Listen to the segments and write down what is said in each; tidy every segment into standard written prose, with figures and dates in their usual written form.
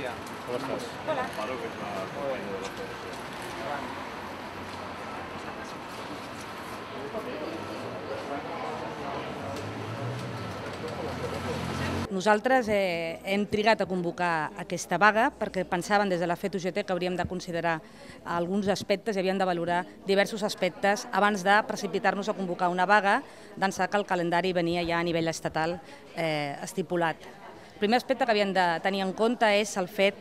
dia. Com estàs? Hola. Amparo, que és la companya de la federació. Nosaltres hem trigat a convocar aquesta vaga perquè pensaven des de la FET-UGT que hauríem de considerar alguns aspectes i havíem de valorar diversos aspectes abans de precipitar-nos a convocar una vaga, d'ençà que el calendari venia ja a nivell estatal estipulat. El primer aspecte que havíem de tenir en compte és el fet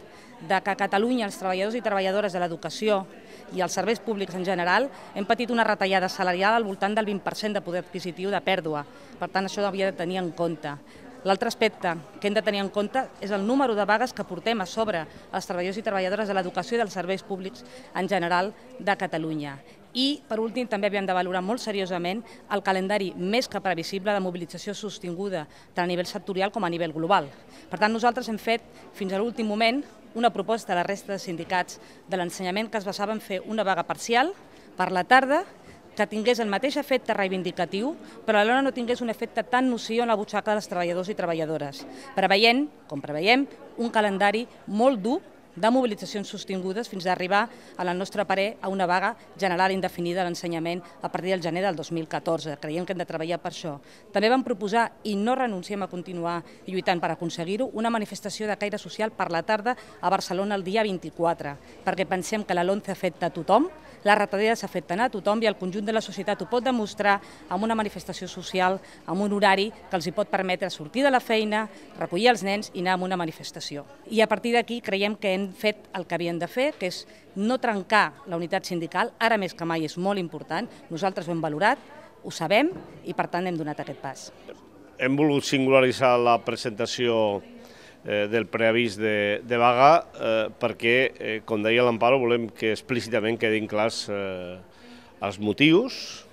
que a Catalunya els treballadors i treballadores de l'educació i els serveis públics en general hem patit una retallada salarial al voltant del 20% de poder adquisitiu de pèrdua. Per tant, això havia de tenir en compte. L'altre aspecte que hem de tenir en compte és el número de vagues que portem a sobre els treballadors i treballadores de l'educació i dels serveis públics en general de Catalunya. I, per últim, també havíem de valorar molt seriosament el calendari més que previsible de mobilització sostinguda tant a nivell sectorial com a nivell global. Per tant, nosaltres hem fet, fins a l'últim moment, una proposta a la resta de sindicats de l'ensenyament que es basava en fer una vaga parcial per la tarda que tingués el mateix efecte reivindicatiu, però alhora no tingués un efecte tan nociu en la butxaca dels treballadors i treballadores, preveient, com preveiem, un calendari molt dur de mobilitzacions sostingudes fins a arribar, al nostre parer, a una vaga general indefinida a l'ensenyament a partir del gener del 2014. Creiem que hem de treballar per això. També vam proposar, i no renunciem a continuar lluitant per aconseguir-ho, una manifestació de caire social per la tarda a Barcelona el dia 24, perquè pensem que la LOMCE afecta a tothom, les retallades afecten a tothom i el conjunt de la societat ho pot demostrar amb una manifestació social, amb un horari que els hi pot permetre sortir de la feina, recollir els nens i anar a una manifestació. I a partir d'aquí creiem que hem fet el que havíem de fer, que és no trencar la unitat sindical, ara més que mai és molt important, nosaltres ho hem valorat, ho sabem i per tant hem donat aquest pas. Hem volgut singularitzar la presentació del preavís de vaga perquè, com deia l'Amparo, volem que explícitament quedin clars els motius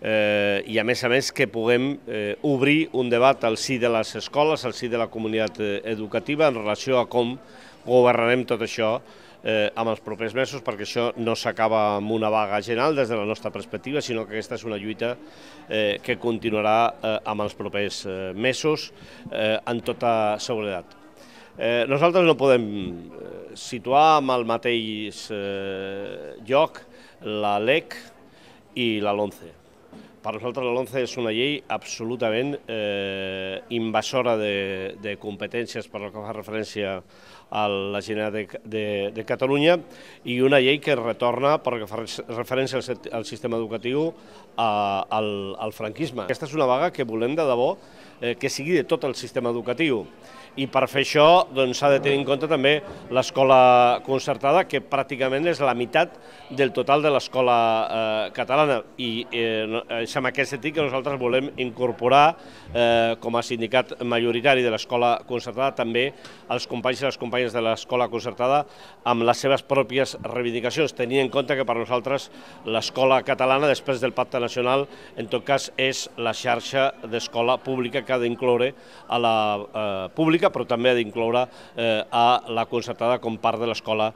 i, a més, que puguem obrir un debat al si de les escoles, al si de la comunitat educativa en relació a com governarem tot això amb els propers mesos, perquè això no s'acaba amb una vaga general des de la nostra perspectiva, sinó que aquesta és una lluita que continuarà amb els propers mesos amb tota seguretat. Nosaltres no podem situar en el mateix lloc la LEC i la LOMCE. Per nosaltres la LOMCE és una llei absolutament invasora de competències per el que fa referència a la Generalitat de Catalunya i una llei que retorna, per el que fa referència al sistema educatiu, al franquisme. Aquesta és una vaga que volem de debò que sigui de tot el sistema educatiu i per fer això s'ha de tenir en compte també l'escola concertada, que pràcticament és la meitat del total de l'escola catalana i és en aquest sentit que nosaltres volem incorporar com a sindicat majoritari de l'escola concertada també els companys i les companyes de l'escola concertada amb les seves pròpies reivindicacions, tenint en compte que per nosaltres l'escola catalana, després del pacte nacional, en tot cas és la xarxa d'escola pública que ha d'incloure a la pública, però també ha d'incloure a la concertada com part de l'escola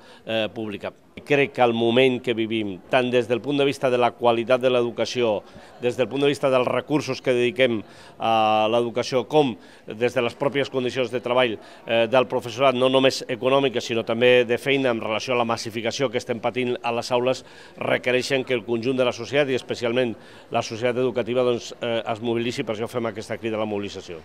pública. Crec que el moment que vivim, tant des del punt de vista de la qualitat de l'educació, des del punt de vista dels recursos que dediquem a l'educació, com des de les pròpies condicions de treball del professorat, no només econòmiques, sinó també de feina en relació a la massificació que estem patint a les aules, requereixen que el conjunt de la societat, i especialment la societat educativa, es mobilitzi, per això fem aquesta crida a la mobilització.